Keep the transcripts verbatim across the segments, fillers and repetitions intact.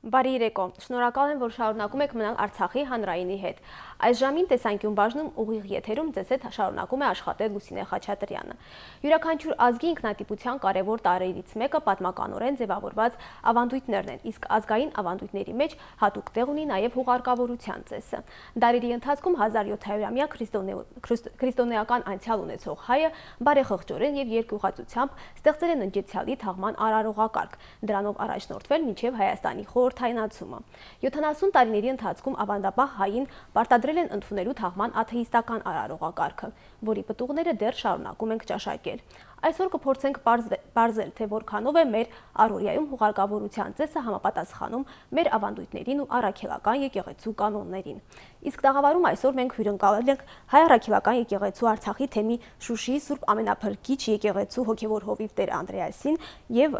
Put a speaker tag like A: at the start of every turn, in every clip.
A: Բարի երեկո, շնորհակալ եմ, որ շարունակում եք մնալ Արցախի հանրայինի հետ։ Այս ժամին տեսանկյուն բաժնում ուղիղ եթերում ձեզ հետ շարունակում է աշխատել Լուսինե Խաչատրյանը։ Յուրաքանչյուր ազգի ինքնատիպության կարևոր տարրերից մեկը պատմականորեն ձևավորված ավանդույթներն են, իսկ ազգային ավանդույթների մեջ հատուկ տեղ ունի նաև հուղարկավորության ծեսը։ Դարերի ընթացքում հազար յոթ հարյուրամյա քրիստոնեական անցյալ ունեցող հայը բարեխղճորեն եւ երկյուղածությամբ ստեղծել են ընջեցյալի թաղման արարողակարգ, դրանով առաջնորդվել մինչև Հայաստանի խորհրդայնացումը։ յոթանասուն տարիների ընթացքում ավանդապահ հային պարտադրել են ընդունելու թաղման աթեիստական արարողակարգը, որի պտուղները դեռ շարունակում ենք ճաշակել։ Այսօր կփորձենք բարձել, թե որքանով է մեր առօրյայում հուղարկավորության ծեսը համապատասխանում մեր ավանդույթներին ու առաքելական եկեղեցու կանոններին։ Իսկ տաղավարում այսօր մենք հյուրընկալել ենք Հայ առաքելական եկեղեցու Արցախի թեմի Շուշիի Սուրբ Ամենափրկիչ եկեղեցու հոգևոր հովիվ Տեր Անդրեասին եւ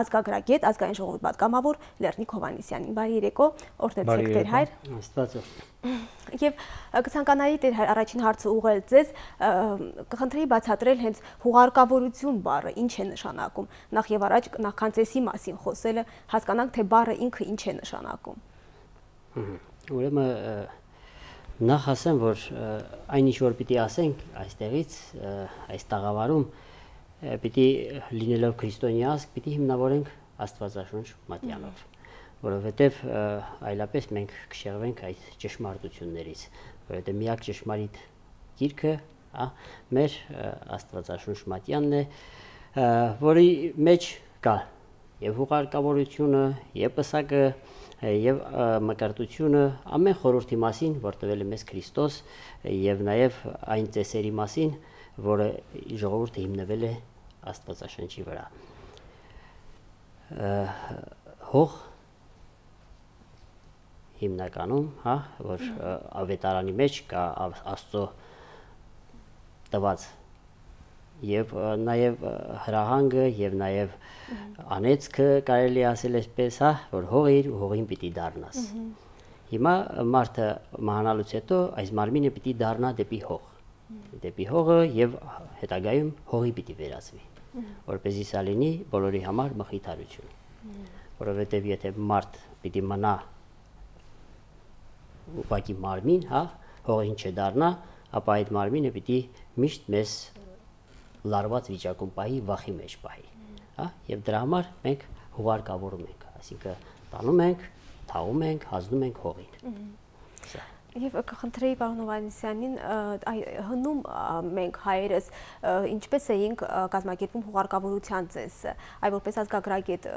A: ազգագրագետ ազգային ժողովի պատգամավոր Լեռնիկ Հովհաննիսյանին։ Բարի երեկո, օրհնեցեք Տեր Հայր։
B: Աստված
A: Եվ կցանկանայի Տեր Հայր առաջին հարցը ուղղել ձեզ, կխնդրեի բացատրել հենց հուղարկավորություն բառը ինչ է նշանակում։ Նախ եւ առաջ նախքան ծեսի մասին խոսելը հասկանանք, թե բառը ինքը ինչ է նշանակում։
B: Ուրեմն նախ ասեմ, որ այնինչ որ պիտի ասենք այստեղից, այս տաղավարում, պիտի լինելով քրիստոնյա ազգ, պիտի հիմնավորենք Աստվածաշունչ մատյանով, որովհետև այլապես մենք կշեղվենք այդ ճշմարտություններից, որովհետև միակ ճշմարիտ գիրքը մեր Աստվածաշունչ մատյանն է, որի մեջ կա եւ հուղարկավորությունը, եւ պսակը, եւ մկրտությունը, ամեն խորհրդի մասին, որ տվել է մեզ Քրիստոս, եւ նաեւ այն ծեսերի մասին, որը ժողովուրդը հիմնվել է Աստվածաշնչի վրա։ Հող հիմնականում, հա, որ ավետարանի մեջ կա Աստծո տված եւ նաեւ հրահանգը եւ նաեւ անեծքը կարելի ասել այսպես, հա, որ հողիր ու հողին պիտի դառնաս։ Հիմա մարդը մահանալուց հետո այս մարմինը պիտի դառնա դեպի հող, դեպի հողը եւ հետագայում հողի պիտի վերածվի, որպեսզի սա լինի բոլորի համար մխիթարություն, որովհետեւ եթե մարդ պիտի մնա ուղղակի մարմին, հա, հողին չդառնա, ապա այդ մարմինը պիտի միշտ մեզ լարված վիճակում պահի, վախի մեջ պահի, հա, եւ դրա համար մենք հուղարկավորում ենք, այսինքն տանում ենք, թաղում ենք, հանձնում ենք հողին։
A: Եվ կխնդրեի պարոն Հովհաննիսյանին, հնում մենք հայերս ինչպես էինք կազմակերպում հուղարկավորության ծեսը, այ որպես ազգագրագետ,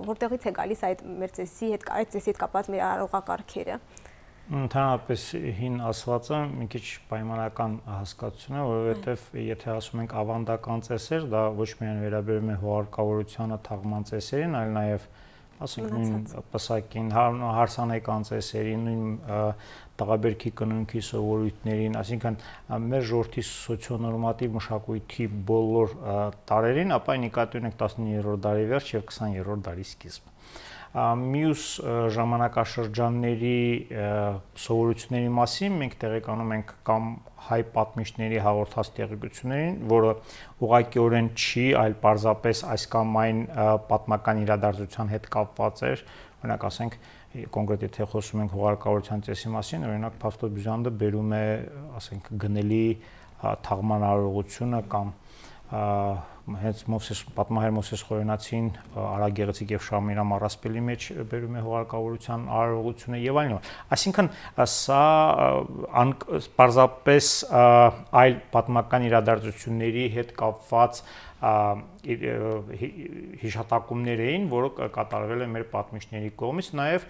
A: որտեղից է գալիս այդ մեր ծեսի հետ, այդ ծեսի հետ կապված մեր արարողակարգերը։
C: Ընդհանրապես հին ասվածը մի քիչ պայմանական հասկացություն է, որովհետև եթե ասում ենք ավանդական ծեսեր, դա ոչ միայն վերաբերում է հուղարկավորությանը, թաղման ծեսերին, այլ նաև ասենք նույն պսակին, հարսանեկան ծեսերին, նույն տղաբերքի կնունքի սովորույթներին, այսինքն մեր ժողովրդի սոցիոնորմատիվ մշակույթի բոլոր տարրերին, ապա նկատի ունենք տասնիններորդ դարի վերջ եւ քսաներորդ դարի սկիզբ։ Մյուս ժամանակաշրջանների սովորությունների մասին մենք տեղեկանում ենք կամ հայ պատմիչների հաղորդած տեղեկություններին, որը ուղղակիորեն չի, այլ պարզապես այս կամ այն պատմական իրադարձության հետ կապված էր, օրինակ ասենք կոնկրետ եթե խոսում ենք հուղարկավորության ծեսի մասին, օրինակ Փաստոր Բյուզանդը բերում է, ասենք, գնելի թաղման արարողությունը կամ հենց Մովսես պատմահար Մովսես Խորենացին Արագեղեցիկ եւ Շամիրամ առասպելի մեջ բերում է հուղարկավորության արարողությունը եւ այլն։ Այսինքն սա պարզապես այլ պատմական իրադարձությունների հետ կապված հիշատակումներ էին, որը կատարվել է մեր պատմիչների կողմից, նաև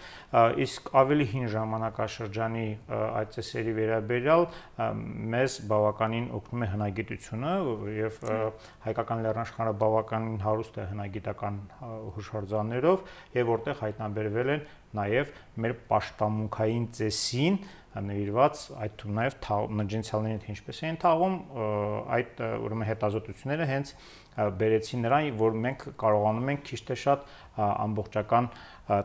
C: իսկ ավելի հին ժամանակաշրջանի այդ ծեսերի վերաբերյալ մեզ բավականին օգնում է հնագիտությունը եւ հայկական լեռնաշխարհը բավականին հարուստ է հնագիտական հուշարձաններով եւ որտեղ հայտնաբերվել են նաև մեր պաշտամունքային ծեսին նվիրված այդ թվում նաև նջնցիալներին թե ինչպես էին թաղում, այդ ուրեմն հետազոտությունները հենց բերեցին նրան, որ մենք կարողանում ենք քիչ թե շատ ամբողջական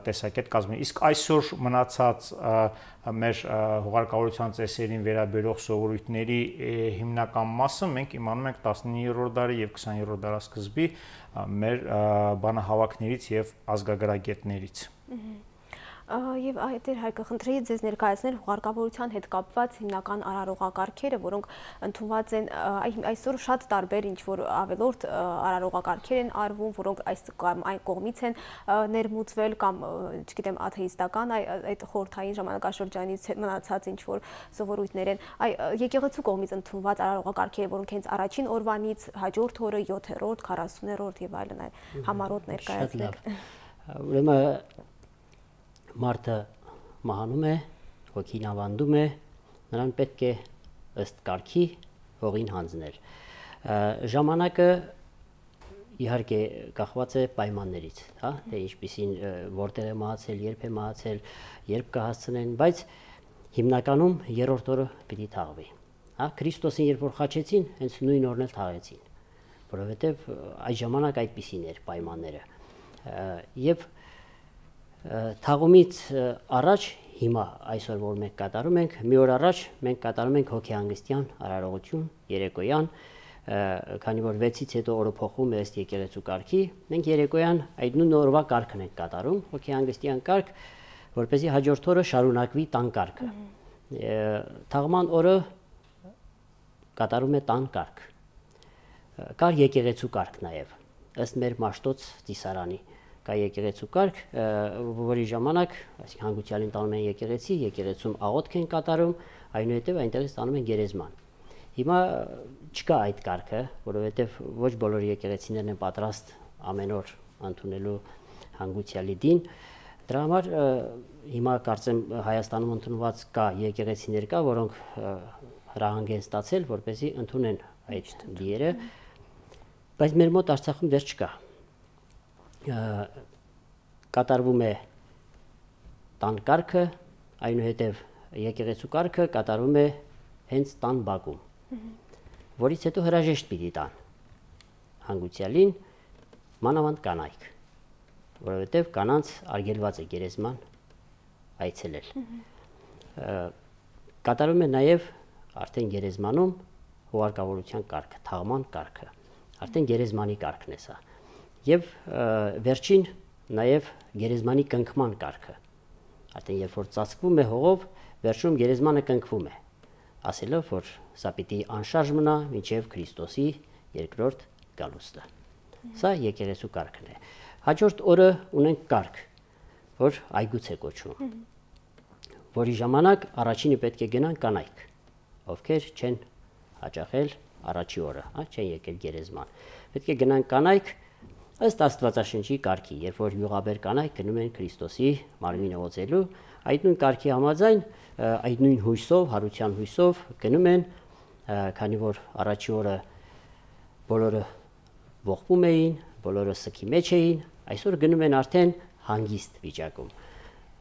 C: տեսակետ կազմել։ Իսկ այսօր մնացած մեր հուղարկավորության ծեսերին վերաբերող սովորույթների հիմնական մասը մենք իմանում ենք տասնիններորդ դարի եւ քսաներորդ դարաշրջանի մեր բանահավաքներից եւ ազգագրագետներից։
A: Եվ այդեր Հայկը խնդրեի ձեզ ներկայացնել հուղարկավորության հետ կապված հիմնական արարողակարգերը, որոնք ընդունված են այսօր շատ տարբեր ինչ-որ ավելորդ արարողակարգեր են արվում, որոնք այս կամ այն կողմից են ներմուծվել կամ, չգիտեմ, աթեիստական այդ խորհրդային ժամանակաշրջանից մնացած ինչ-որ սովորույթներ են, եկեղեցու կողմից ընդունված արարողակարգերը, որոնք հենց առաջին օրվանից հաջորդ օրը յոթերորդ, քառասուներորդ եւ այլն համառոտ ներկայացնեք։
B: Ուրեմն մարդը մահանում է, հոգին ավանդում է, նրան պետք է ըստ կարգի հողին հանձնել։ Ժամանակը իհարկե կախված է պայմաններից, հա, թե ինչպիսին որտեղ է մահացել, երբ է մահացել, երբ կհասցնեն, բայց հիմնականում երրորդ օրը պիտի թաղվի։ Հա, Քրիստոսին երբ որ խաչեցին, հենց նույն օրն էլ թաղեցին, որովհետև այդ ժամանակ այդպիսին էր պայմանները։ Եվ թաղումից առաջ հիմա այսօր որ մենք կատարում ենք, մի օր առաջ մենք կատարում ենք հոգեհանգստյան արարողություն երեկոյան, քանի որ վեցից հետո օրը փոխվում է ըստ եկեղեցու կարգի, մենք երեկոյան այդ նույն օրվա կարգն ենք կատարում, հոգեհանգստյան կարգ, որպեսզի հաջորդ օրը շարունակվի տան կարգը։ Թաղման օրը կատարում է տան կարգ։ Կար եկեղեցու կարգ նաև, ըստ մեր Մաշտոց ծիսարանի կա եկեղեցու կարգ, որի ժամանակ, այսինքն հանգուցյալին տանում են եկեղեցի, եկեղեցում աղոթք են կատարում, այնուհետև այնտեղից տանում են գերեզման։ Հիմա չկա այդ կարգը, որովհետև ոչ բոլոր եկեղեցիներն են պատրաստ ամեն օր ընդունելու հանգուցյալի դին։ Դրա համար հիմա կարծեմ Հայաստանում ընդունված կա եկեղեցիներ կա, որոնք հրահանգ են ստացել, որպեսզի ընդունեն այդ դիերը, բայց մեր մոտ Արցախում դեռ չկա։ Կատարվում է տան կարգը, այնուհետև եկեղեցու կարգը կատարվում է հենց տան բակում, որից հետո հրաժեշտ պիտի տան հանգուցյալին, մանավանդ կանայք, որովհետև կանանց արգելված է գերեզման այցելել։ Կատարում է նաև արդեն գերեզմանում հուղարկավորության կարգը, թաղման կարգը, արդեն գերեզմանի կարգն է սա։ Եվ վերջին նաև գերեզմանի կնքման կարգը, արդեն երբ որ ծածկվում է հողով, վերջում գերեզմանը կնքվում է, ասելով, որ սա պիտի անշարժ մնա մինչև Քրիստոսի երկրորդ գալուստը։ Սա եկեղեցու կարգն է։ Հաջորդ օրը ունենք կարգ, որ այգուց է կոչվում, որի ժամանակ առաջինը պետք է գնան կանայք, ովքեր չեն հաճախել առաջի օրը, չեն եկել գերեզման։ Պետք է գնան կանայք ըստ Աստվածաշնչի կարգի, երբ որ յուղաբեր կանայք գնում են Քրիստոսի մարմինը օծելու, այդ նույն կարգի համաձայն, այդ նույն հույսով, հարության հույսով գնում են, քանի որ առաջի օրը բոլորը ողբում էին, բոլորը սքի մեջ էին, այսօր գնում են արդեն հանգիստ վիճակում,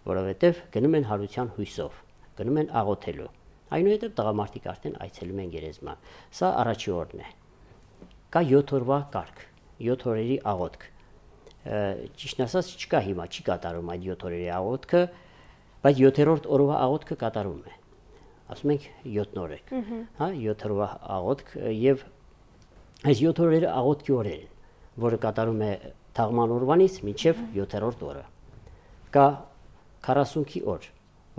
B: որովհետև գնում են հարության հույսով, գնում են աղոթելու, այնուհետև տղամարդիկ արդեն այցելում են գերեզման։ Սա առաջի օրն է։ Կա յոթ օրվա կարգ, յոթ օրերի աղոթք։ Ճիշտն ասած չկա հիմա, չի կատարում այդ յոթ օրերի աղոթքը, բայց յոթերորդ օրվա աղոթքը կատարում է։ Ասում ենք յոթնորեկ, հա, յոթ օրվա աղոթք եւ այս յոթ օրերը աղոթքի օրեր են, որը կատարում է թաղման օրվանից մինչև յոթերորդ օրը։ Կա քառասունքի օր,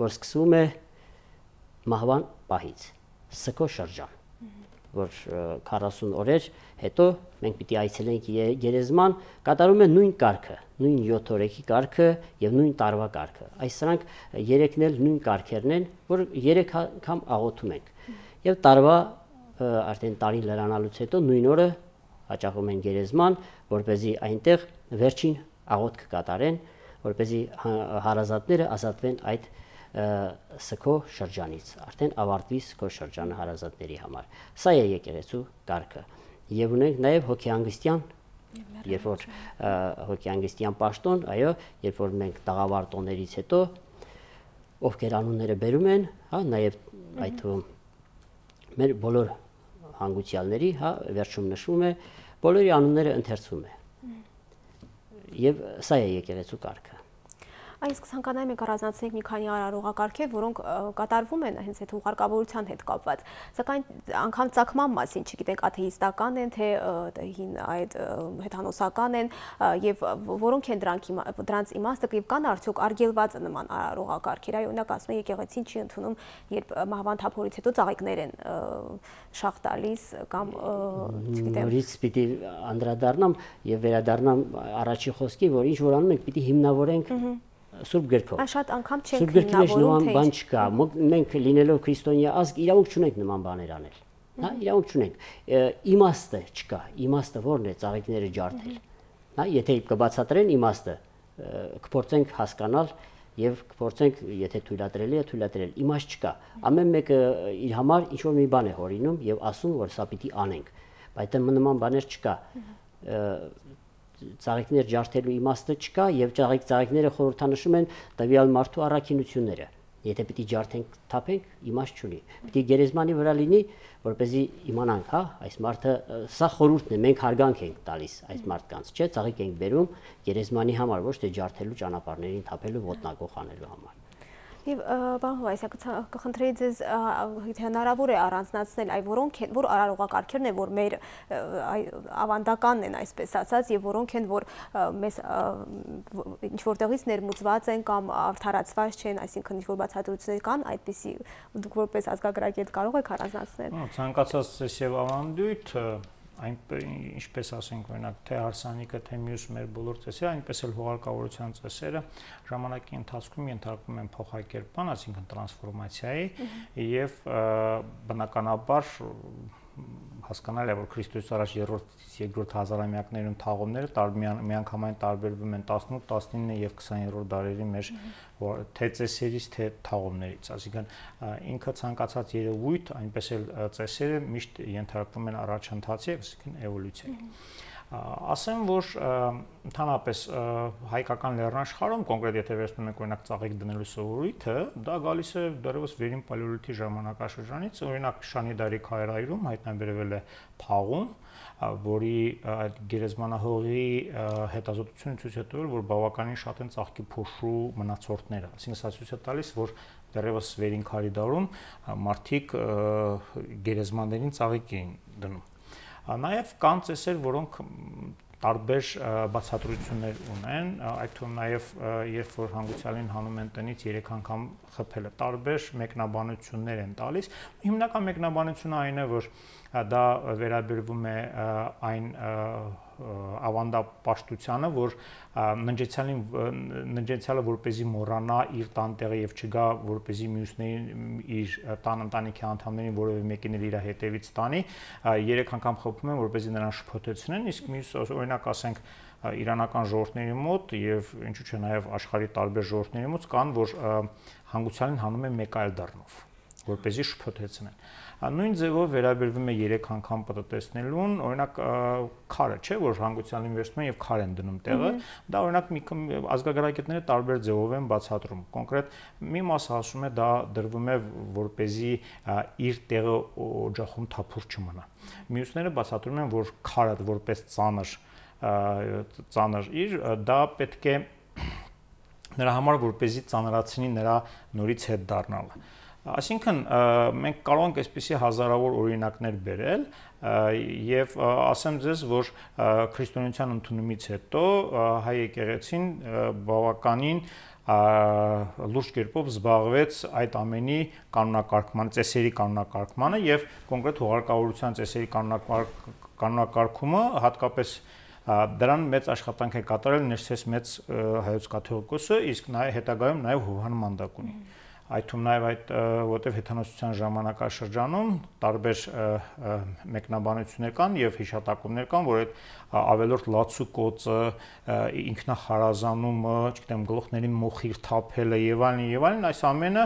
B: որ սկսվում է մահվան պահից, սքո շրջան, որ քառասուն օրեր հետո մենք պիտի այցելենք գերեզման, կատարում է նույն կարգը, նույն յոթ օրեկի կարգը եւ նույն տարվա կարգը։ Այս սրանք երեքն էլ նույն կարգերն են, որ երեք անգամ աղոթում ենք։ Եվ տարվա արդեն տարին լրանալուց հետո նույն օրը հաճախում են գերեզման, որպեսզի այնտեղ վերջին աղոթքը կատարեն, որպեսզի հարազատները ազատվեն այդ սքո շրջանից, արդեն ավարտվի սքո շրջանը հարազատների համար։ Սա է եկեղեցու կարգը։ Եվ ունենք նաև հոգեհանգստյան, երբ որ հոգեհանգստյան պաշտոն, այո, երբ որ մենք տաղավար տոներից հետո ովքեր անունները բերում են, հա, նաև այդ թվում մեր բոլոր հանգուցյալների, հա, վերջում նշվում է, բոլորի անունները ընթերցում է։ Եվ սա է եկեղեցու կարգը։
A: Այս ցանկանայում եք առանձնացնել մի քանի արարողակարգեր, որոնք կատարվում են հենց այդ ուղարկավորության հետ կապված։ Սակայն անգամ ցակման մասին, չգիտենք, աթեիստական են, թե հին այդ հեթանոսական են, եւ որոնք են դրանք դրանց իմաստը, եւ կան արդյոք արգելված նման արարողակարգեր։ Այո, օրինակ ասում են եկեղեցին չի ընդունում, երբ մահվան թափորից հետո ծաղիկներ են շախ տալիս կամ չգիտեմ։
B: Նորից պիտի անդրադառնամ եւ վերադառնամ առաջի խոսքի, որ ինչ որ անում ենք, պիտի հիմնավորենք Սուրբ գրքով։
A: Շատ անգամ չենք
B: հիմնավորում, Սուրբ գրքի մեջ նման
A: թե
B: բան չկա։ Մենք լինելով քրիստոնյա ազգ իրավունք չունենք նման բաներ անել։ Հա, իրավունք չունենք։ Իմաստը չկա։ Իմաստը ո՞րն է ծաղիկները ջարդել։ Հա, եթե կբացատրեն իմաստը, կփորձենք հասկանալ եւ կփորձենք, եթե թույլատրելի է, թույլատրել։ Իմաստ չկա։ Ամեն մեկը իր համար ինչ որ մի բան է հորինում եւ ասում, որ սա պիտի անենք։ Բայց նման բաներ չկա։ Ծաղիկներ ջարդելու իմաստը չկա եւ ծաղիկ ծաղիկները խորհրդանշում են տվյալ մարդու առաքինությունները։ Եթե պիտի ջարդենք, թափենք, իմաստ չունի։ Պիտի գերեզմանի վրա լինի, որպեսզի իմանանք, հա, այս մարդը սա խորհուրդն է, մենք հարգանք ենք տալիս այս մարդկանց, չէ՞, ծաղիկ ենք բերում գերեզմանի համար, ոչ թե ջարդելու ճանապարհներին թափելու ոտնագող անելու համար։
A: Եվ բան հույսակ կխնդրեի ձեզ հնարավոր է առանձնացնել այ որոնք են, որ արարողակարգերն են, որ մեր ավանդականն են, այսպես ասած, եւ որոնք են, որ մեզ ինչ որտեղից ներմուծված են կամ արդարացված չեն, այսինքն ինչ որ բացատրություններ կան, այդպիսի դուք որպես ազգագրագետ կարող եք առանձնացնել։
C: Ցանկացած ծես եւ ավանդույթ այն ինչպես ասենք օրինակ թե հարսանիքը թե մյուս մեր բոլոր ծեսերը, այնպես էլ հուղարկավորության ծեսերը ժամանակի ընթացքում ենթարկվում են փոխակերպման, այսինքն տրանսֆորմացիայի եւ բնականաբար հասկանալի է որ Քրիստոսից առաջ երրորդ երկրորդ հազարամյակներում թաղումները միանգամայն տարբերվում են տասնութ, տասնինը եւ քսաներորդ դարերի մեր թե ծեսերից թե թաղումներից, այսինքն ինքը ցանկացած երևույթ, այնպես էլ ծեսերը միշտ ենթարկվում են առաջընթացի, այսինքն էվոլյուցիայի։ Ասեմ, որ ընդհանրապես հայկական լեռնաշխարհում կոնկրետ եթե վերցնում ենք օրինակ ծաղիկ դնելու սովորույթը, դա գալիս է դեռևս վերին պալեոլիթի ժամանակաշրջանից, օրինակ Շանիդարի քարայրում հայտնաբերվել է թաղում, որի այդ գերեզմանահողի հետազոտությունը ցույց է տվել, որ բավականին շատ են ծաղկի փոշու մնացորդները, այսինքն սա ցույց է տալիս, որ դեռևս վերին քարի դարում մարդիկ գերեզմաններին ծաղիկ էին դնում։ Նաև կան ծեսեր, որոնք տարբեր բացատրություններ ունեն, այդ թվում նաև երբ որ հանգուցյալին հանում են տնից երեք անգամ խփելը, տարբեր մեկնաբանություններ են տալիս։ Հիմնական մեկնաբանությունը այն է, որ դա վերաբերվում է այն ավանդապաշտությանը, որ ննջեցյալին ննջեցյալը որպեսզի մոռանա իր տանտեղը եւ չգա որպեսզի մյուսներին իր տան ընտանիքի անդամներին որևէ մեկին իր հետևից տանի, երեք անգամ խփում են որպեսզի նրան շփոթեցնեն, իսկ մյուս օրինակ ասենք իրանական ժողովուրդների մոտ եւ ինչու՞ չէ նաեւ աշխարհի տարբեր ժողովուրդների մոտ կան, որ հանգուցյալին հանում են մեկ այլ դառնով, որպեսզի շփոթեցնեն։ Նույն ձևով վերաբերվում է երեք անգամ պատտեսնելուն, օրինակ քարը, չէ, որ հանգուցյալին վերցնում են եւ քար են դնում տեղը, դա օրինակ մի ազգագրագետները տարբեր ձևով են բացատրում։ Կոնկրետ մի մասը ասում է դա դրվում է որպեսզի իր տեղը օջախում թափուր չմնա։ Մյուսները բացատրում են, որ քարը որպես ծանր ծանր իր, դա պետք է նրա համար որպեսզի ծանրացնի նրա նորից հետ դառնալը։ Այսինքն մենք կարող ենք այսպիսի հազարավոր օրինակներ բերել եւ ասեմ ձեզ, որ քրիստոնեության ընդունումից հետո հայ եկեղեցին բավականին լուրջ կերպով զբաղվեց այդ ամենի կանոնակարգման, ծեսերի կանոնակարգմանը եւ կոնկրետ հուղարկավորության ծեսերի կանոնակարգումը հատկապես դրան մեծ աշխատանք է կատարել ներսես մեծ հայոց կաթողիկոսը, իսկ նաեւ հետագայում նաեւ Հովհան Մանդակունի։ Այդ թվում նաև այդ որտեղ հեթանոսության ժամանակաշրջանում տարբեր մեկնաբանություններ կան եւ հիշատակումներ կան, որ այդ ավելորդ լացու կոծը, ինքնախարազանումը, չգիտեմ, գլուխներին մոխիր թափելը եւ այլն եւ այլն, այս ամենը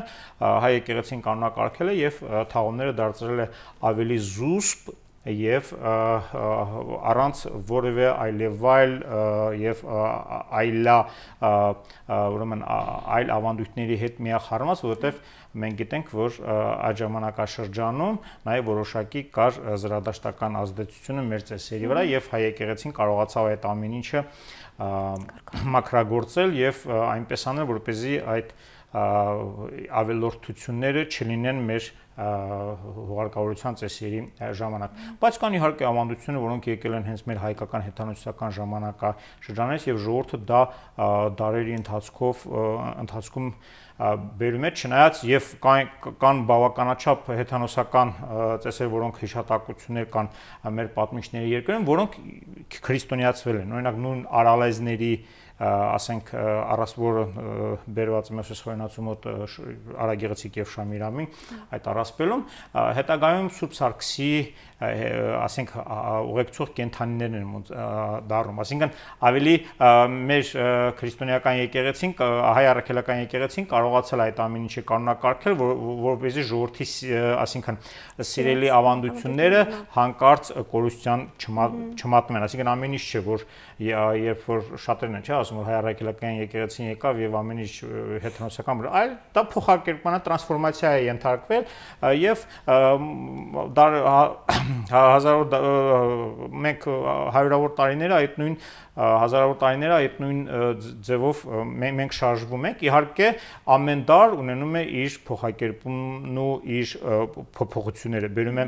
C: հայ եկեղեցին կանոնակարգել է եւ թաղումները դարձրել է ավելի զուսպ եւ առանց որևէ այլևայլ եւ այլա ուրեմն այլ ավանդույթների հետ միախառնված, որովհետեւ մենք գիտենք, որ այդ ժամանակաշրջանում նաեւ որոշակի կար զրադաշտական ազդեցությունը մեր ծեսերի վրա եւ հայ եկեղեցին կարողացավ այդ ամեն ինչը մաքրագործել եւ այնպես անել, որպեսզի այդ ավելորդությունները չլինեն մեր հուղարկավորության ծեսերի ժամանակ։ Բայց կան իհարկե ավանդություններ, որոնք եկել են հենց մեր հայկական հեթանոսական ժամանակաշրջանից եւ ժողովուրդը դա դարերի ընթացքով ընթացքում բերում է, չնայած եւ կան, կան բավականաչափ հեթանոսական ծեսեր, որոնք հիշատակություններ կան մեր պատմիչների երկրում, որոնք քրիստոնեացվել են։ Օրինակ նույն արալեզների ասենք առասպորը բերված Մոսես խորենացու մոտ Արագեղեցիկ եւ Շամիրամի այդ առասպելում հետագայում Սուրբ Սարգսի ասենք ուղեկցող կենթանիներն են դառնում, ասինքն ավելի մեր քրիստոնեական եկեղեցին, հայ առաքելական եկեղեցին կարողացել այդ ամեն ինչը կանոնակարգել, որպեսզի ժողովրդի ասինքն սիրելի ավանդությունները հանկարծ կորուստյան չմատնեն, ասինքն ամեն ինչ չէ, որ երբ որ շատերն են, չէ, ասում որ հայ առաքելական եկեղեցին եկավ եւ ամեն ինչ հեթանոսական, այլ դա փոխարկերպման տրանսֆորմացիա է ենթարկվել եւ հազարավոր մենք հարյուրավոր տարիները այդ նույն հազարավոր տարիները այդ նույն ձևով մենք շարժվում ենք, իհարկե ամեն դար ունենում է իր փոխակերպումն ու իր փոփոխությունները, բերում է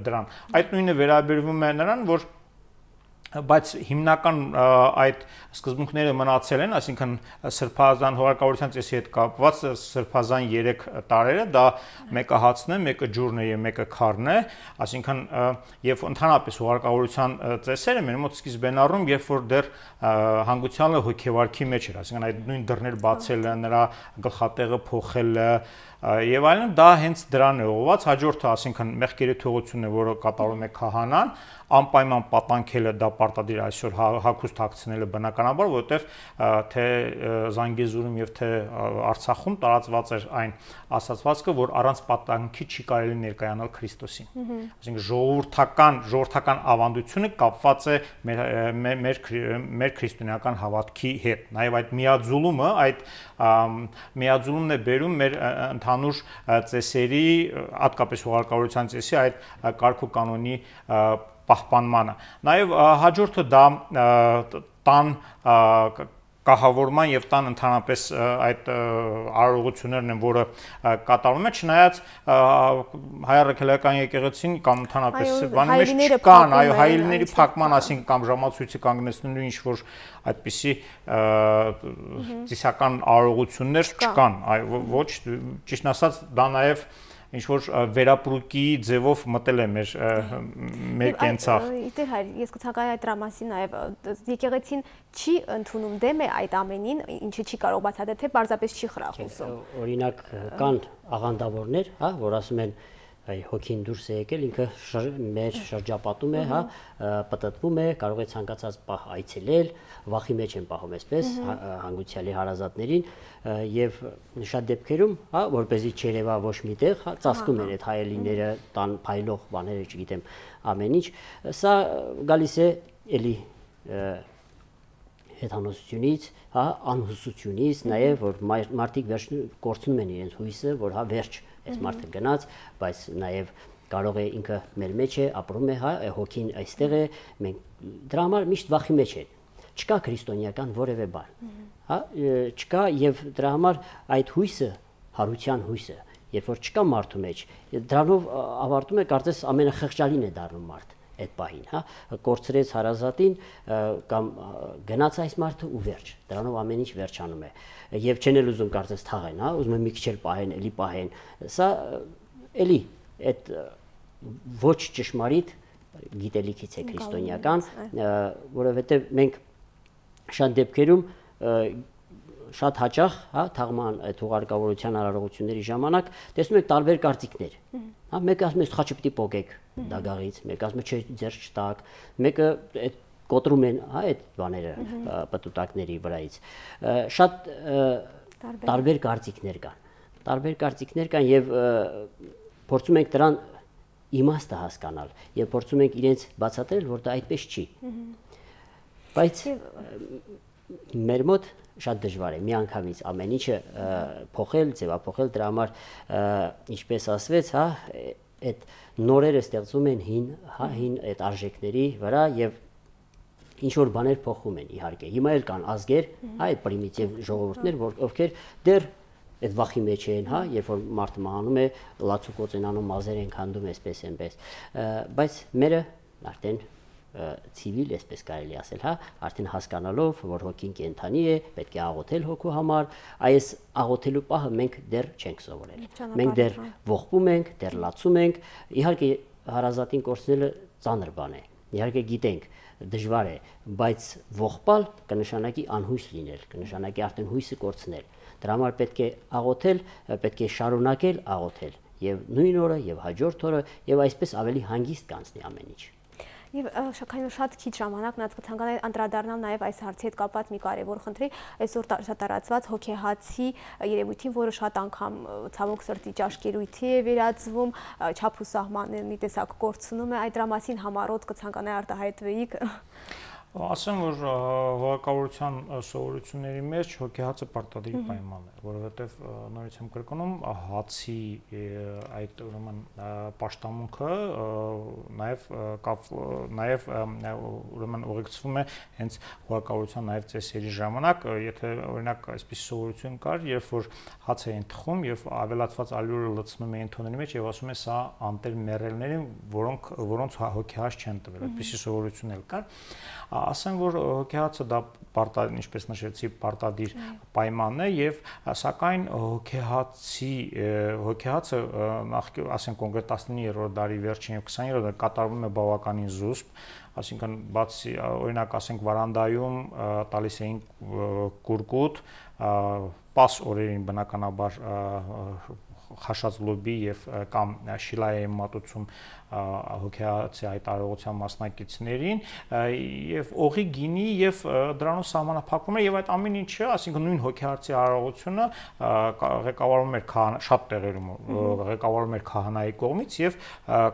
C: դրան։ Այդ նույնը վերաբերվում է նրան, որ բայց հիմնական այդ սկզբունքները մնացել են, այսինքն սրբազան հուղարկավորության ծեսի հետ կապված սրբազան երեք տարերը, դա մեկը հացն է, մեկը ջուրն է եւ մեկը քարն է, այսինքն եւ ընդհանրապես հուղարկավորության ծեսերը մեր մոտ սկիզբեն առնում, երբ որ դեռ հանգուցյալը հոգեվարքի մեջ էր, այսինքն այդ նույն դռներ բացելը, նրա գլխատեղը փոխելը եւ այլն, դա հենց դրան է ուղղված, հաջորդը այսինքն մեղքերի թողությունն է, որը կատարում է քահանան, անպայման պատանքելը դա պարտադիր այսօր հագուստ հագցնելը բնականաբար, որովհետև թե Զանգեզուրում եւ թե Արցախում տարածված էր այն ասացվածքը, որ առանց պատանքի չի կարելի ներկայանալ Քրիստոսին։ Այսինքն ժողովրդական ժողովրդական ավանդությունը կապված է մեր մեր մեր քրիստոնեական հավատքի հետ։ Նաեւ այդ միաձուլումը, այդ միաձուլումն է բերում մեր ընդհանուր ծեսերի, հատկապես հուղարկավորության ծեսի այդ կարգ ու կանոնի պահպանմանը։ Նաև հաջորդը դա տան կահավորման եւ տան ընդհանրապես այդ արարողություններն են, որը կատարվում է, չնայած հայ առաքելական եկեղեցին կամ ընդհանրապես բանի մեջ չկան, այո, հայելիների փակման, ասենք կամ ժամացույցի կանգնեցնելու ինչ որ այդպիսի ծիսական արարողություններ չկան, այո, ոչ, ճիշտ ասած, դա նաև ինչ որ վերապրուկի ձևով մտել է մեր մեր կենցաղ։
A: Իդեր հայր, ես կցանկանայի այդ դրա մասին նաև եկեղեցին չի ընդունում դեմ է այդ ամենին, ինչը չի կարող բացատրել, թե պարզապես չի խրախուսում։
B: Օրինակ կան աղանդավորներ, հա, որ ասում են այ հոգին դուրս է եկել, ինքը մեր շրջապատում է, հա, պատտվում է, կարող է ցանկացած պահ այցելել, վախի մեջ են պահում այսպես հանգուցյալի հարազատներին եւ շատ դեպքերում, հա, որպեսզի չերևա ոչ միտեղ, հա, ծածկում են այդ հայելիները, տան փայլող բաները, չգիտեմ, ամեն ինչ, սա գալիս է էլի հեթանոսությունից, հա, անհուսությունից, նաեւ որ մարդիկ վերջ կորցնում են իրենց հույսը, որ հա վերջ այս մարդը գնաց, բայց նաև կարող է ինքը մեր մեջ է, ապրում է, հա, հոգին այստեղ է, մենք դրա համար միշտ վախի մեջ են։ Չկա քրիստոնեական որևէ բան, հա, չկա եւ դրա համար այդ հույսը, հարության հույսը, երբ որ չկա մարդու մեջ, դրանով ավարտում է կարծես ամենախղճալին է դառնում մարդ այդ պահին, հա, կորցրեց հարազատին կամ գնաց այս մարդը ու վերջ, դրանով ամեն ինչ վերջանում է եւ չեն էլ ուզում կարծես թաղեն, հա, ուզում են մի քիչ էլ պահեն, էլի պահեն, սա էլի այդ ոչ ճշմարիտ գիտելիքից է քրիստոնեական, որովհետեւ մենք շատ դեպքերում շատ հաճախ, հա, թաղման այդ հուղարկավորության արարողությունների ժամանակ տեսնում եք տարբեր կարծիքներ, հա, մեկը ասում է խաչը պիտի պոկեք դագաղից, մեկը ասում է չէ, ձեռք չտակ, մեկը այդ կոտրում են, հա, այդ բաները պտուտակների վրայից։ Շատ տարբեր կարծիքներ կան։ Տարբեր կարծիքներ կան եւ փորձում ենք դրան իմաստը հասկանալ եւ փորձում ենք իրենց բացատրել, որ դա այդպես չի։ Բայց մեր մոտ շատ դժվար է միանգամից ամեն ինչը փոխել, ձևափոխել, դրա համար ինչպես ասվեց, հա, այդ նորերը ստեղծում են հին, հա, հին այդ արժեքների վրա եւ ինչ որ բաներ փոխում են իհարկե։ Հիմա էլ կան ազգեր, հա, այդ պրիմիտիվ ժողովուրդներ, որ ովքեր դեռ այդ վախի մեջ են, հա, երբ որ մարդը մահանում է, լացուկոծ են անում, մազեր են քանդում, այսպես այնպես։ Բայց մերը արդեն ցիվիլ, այսպես կարելի ասել, հա, արդեն հասկանալով, որ հոգին կենդանի է, պետք է աղոթել հոգու համար, այս աղոթելու պահը մենք դեռ չենք սովորել։ Մենք դեռ ողբում ենք, դեռ լացում ենք, իհարկե հարազատին կորցնելը ծանր բան է։ Իհարկե գիտենք, դժվար է, բայց ողբալ կնշանակի անհույս լինել, կնշանակի արդեն հույսը կորցնել։ Դրա համար պետք է աղոթել, պետք է շարունակել աղոթել եւ նույն օրը եւ հաջորդ օրը եւ այսպես ավելի հանգիստ կանցնի ամեն ինչ։
A: Եվ շաքային շատ քիչ ժամանակ նա կցանկանա անդրադառնալ նաև այս հարցի հետ կապված մի կարևոր խնդրի, այսօր շատ տարածված հոգեհացի երևույթին, որը շատ անգամ ցավոք սրտի ճաշկերույթի է վերածվում, չափ ու սահմաններ մի տեսակ կորցնում է, այդ դրա մասին համառոտ կցանկանայի արտահայտվեիք։
C: Ասեմ, որ հոգեկավության սովորությունների մեջ հոգեհացը պարտադիր պայման է, որովհետև նորից եմ կրկնում, հացի այդ ուրեմն պաշտամունքը նաև նաև ուրեմն ուղեկցվում է հենց հոգեկավության նաև ծեսերի ժամանակ, եթե օրինակ այսպես սովորություն կար, երբ որ հաց էին թխում եւ ավելացված ալյուրը լցնում էին թոների մեջ եւ ասում է սա անտեր մեռելներին, որոնք որոնց հոգեհաց չեն տվել, այդպիսի սովորություն էլ կար։ Ասեմ, որ հոգեհացը դա պարտադիր, ինչպես նշեցի, պարտադիր պայմանն է եւ սակայն հոգեհացի հոգեհացը նախ ասենք կոնկրետ տասնիններորդ դարի վերջին եւ քսաներորդ դարի կատարվում է բավականին զուսպ, այսինքն բացի օրինակ ասենք վարանդայում տալիս էին կուրկուտ, պաս օրերին բնականաբար խաշած լոբի եւ կամ շիլայի մատուցում հոգեհացի այդ արարողության մասնակիցներին եւ օղի գինի եւ դրանով սահմանափակվում է եւ այդ ամեն ինչը, ասինքն նույն հոգեհացի արարողությունը ղեկավարվում էր շատ տեղերում ղեկավարվում էր քահանայի կողմից եւ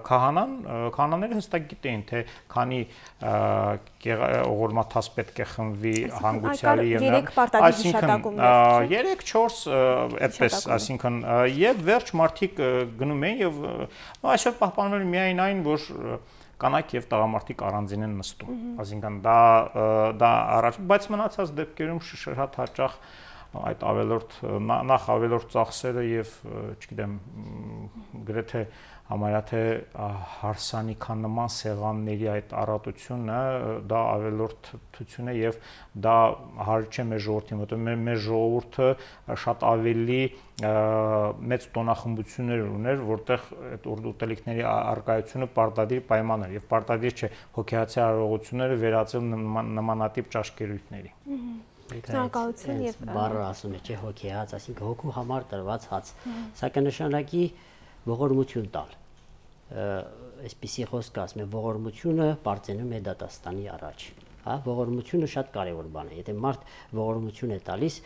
C: քահանան քահանաները հստակ գիտեին թե քանի օղորմաթաս պետք է խմվի հանգուցյալի եւ այսինքն երեք չորս այդպես, այսինքն եւ վերջ մարդիկ գնում են եւ այսօր պահպանվել միայն այն, որ կանայք եւ տղամարդիկ առանձին են նստում, այսինքն դա դա առաջ, բայց մնացած դեպքերում շատ հաճախ այդ ավելորդ նախ ավելորդ ծախսերը եւ չգիտեմ գրեթե համարյա թե հարսանիքանման սեղանների այդ առատությունը դա ավելորդություն է եւ դա հարկ չէ մեր ժողովրդին, որտեղ մեր ժողովուրդը շատ ավելի մեծ տոնախմբություններ ուներ, որտեղ այդ ուտելիքների առկայությունը պարտադիր պայման էր եւ պարտադիր չէ հոգեհացի արարողությունները վերածել նմանատիպ ճաշկերույթների։
A: Շնորհակալություն եւ
B: բառը ասում է, չէ, հոգեհաց, այսինքն հոգու համար տրված հաց, սա կնշանակի ողորմություն տալ։ Այսպիսի խոսք ասում է, ողորմությունը բարձենում է դատաստանի առաջ։ Հա, ողորմությունը շատ կարևոր բան է։ Եթե մարդ ողորմություն է տալիս,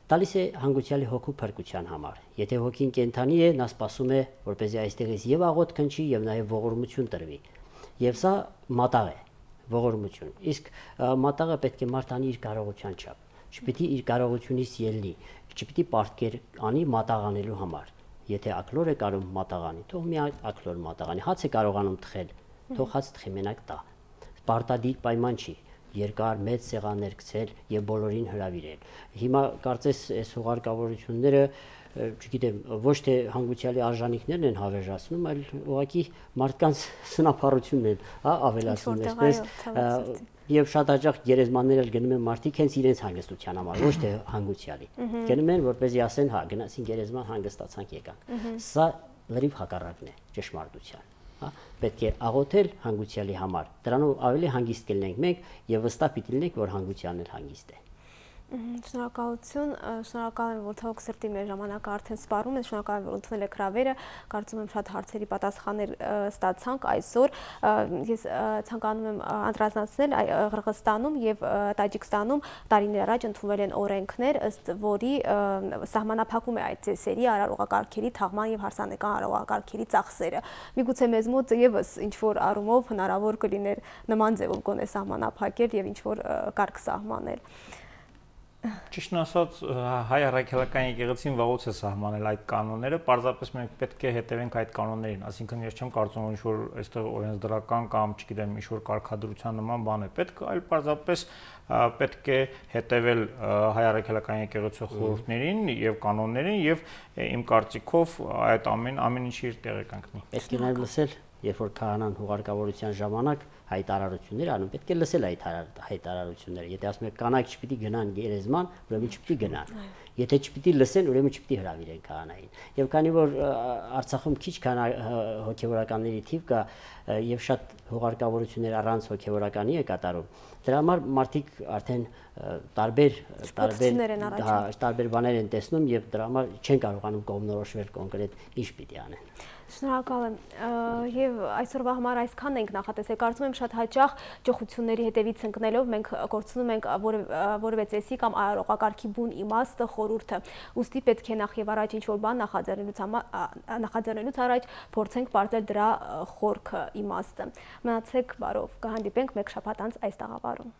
B: տալիս է հանգուցյալի հոգու փրկության համար։ Եթե հոգին կենդանի է, նա սպասում է, որպեսզի այստեղից եւ աղոթ քնչի եւ նաեւ ողորմություն տրվի։ Եվ սա մատաղ է, ողորմություն։ Իսկ մատաղը պետք է մարդ անի իր կարողության չափ։ Չպիտի իր կարողությունից ելնի, չպիտի պարտքեր անի մատաղ անելու համար։ Եթե ակլոր է կարող մատաղանի, թող մի ակլոր մատաղանի, հաց է կարողանում թխել, թող հաց թխի մենակ տա։ Պարտադիր պայման չի, երկար մեծ սեղաններ գցել եւ բոլորին հրավիրել։ Հիմա կարծես այս հուղարկավորությունները, չգիտեմ, ոչ թե հանգուցյալի արժանինքներն են հավերժացնում, այլ ուղղակի մարդկանց սնափառությունն են, հա, ավելացնում այսպես։ Եվ շատ հաճախ գերեզմաններ էլ գնում են մարդիկ հենց իրենց հանգստության համար, ոչ թե հանգուցյալի։ Գնում են, որպեսզի ասեն, հա, գնացին գերեզման, հանգստացանք եկանք։ Սա լրիվ հակառակն է ճշմարտության, հա։ Պետք է աղոթել հանգուցյալի համար։ Դրանով ավելի հանգիստ կլինենք մենք եւ վստահ պիտի լինենք, որ հանգուցյալն էլ հանգիստ է։
A: Շնորհակալություն, շնորհակալ եմ, որ թող սրտի մեր ժամանակը արդեն սպառում են, շնորհակալ եմ, որ ընդունել եք հրավերը, կարծում եմ շատ հարցերի պատասխաններ ստացանք այսօր։ Ես ցանկանում եմ անդրադառնալ Ղրղստանում եւ Տաջիկստանում տարիներ առաջ ընդունվել են օրենքներ, ըստ որի սահմանափակում է այդ ծեսերի, արարողակարգերի թաղման եւ հարսանեկան արարողակարգերի ծախսերը։ Միգուցե մեզ մոտ եւս ինչ որ առումով հնարավոր կլիներ նման ձևով գոնե սահմանափակել եւ ինչ որ կարգ սահմանել։
C: Ճիշտն ասած, հայ առաքելական եկեղեցին վաղուց է սահմանել այդ կանոնները, պարզապես մենք պետք է հետևենք այդ կանոններին, այսինքն ես չեմ կարծում, որ ինչ-որ այստեղ օրենսդրական կամ, չգիտեմ, ինչ-որ կարգադրության նման բան է պետք, այլ պարզապես պետք է հետևել հայ առաքելական եկեղեցու խորհուրդներին եւ կանոններին եւ իմ կարծիքով այդ ամեն ամեն ինչի իր տեղը կանգնի։
B: Պետք է նաեւ լսել, երբ որ քահանան հուղարկավորության ժամանակ հայտարարություններ անում, պետք է լսել այդ հայտարարությունները։ Եթե ասում եք կանայք չպիտի գնան գերեզման, ուրեմն չպիտի գնան։ Եթե չպիտի լսեն, ուրեմն չպիտի հրավիրեն քահանային։ Եվ քանի որ Արցախում քիչ քան հոգևորականների թիվ կա եւ շատ հուղարկավորություններ առանց հոգևորականի է կատարում, դրա համար մարդիկ արդեն տարբեր տարբեր տարբեր բաներ են տեսնում եւ դրա համար չեն կարողանում կողմնորոշվել կոնկրետ ինչ պիտի անեն։
A: Շնորհակալ եմ եւ այսօրվա համար այսքանն ենք նախատեսել։ Կարծում եմ շատ հաճախ ճոխությունների հետևից ընկնելով մենք կորցնում ենք որևէ ծեսի կամ արարողակարգի բուն իմաստը, խորհուրդը։ Ուստի պետք է նախ եւ առաջ ինչ որ բան նախաձեռնելուց նախաձեռնելուց առաջ փորձենք բարձել դրա խորքը, իմաստը։ Մնացեք բարով, կհանդիպենք մեկ շաբաթ անց այս տաղավարում։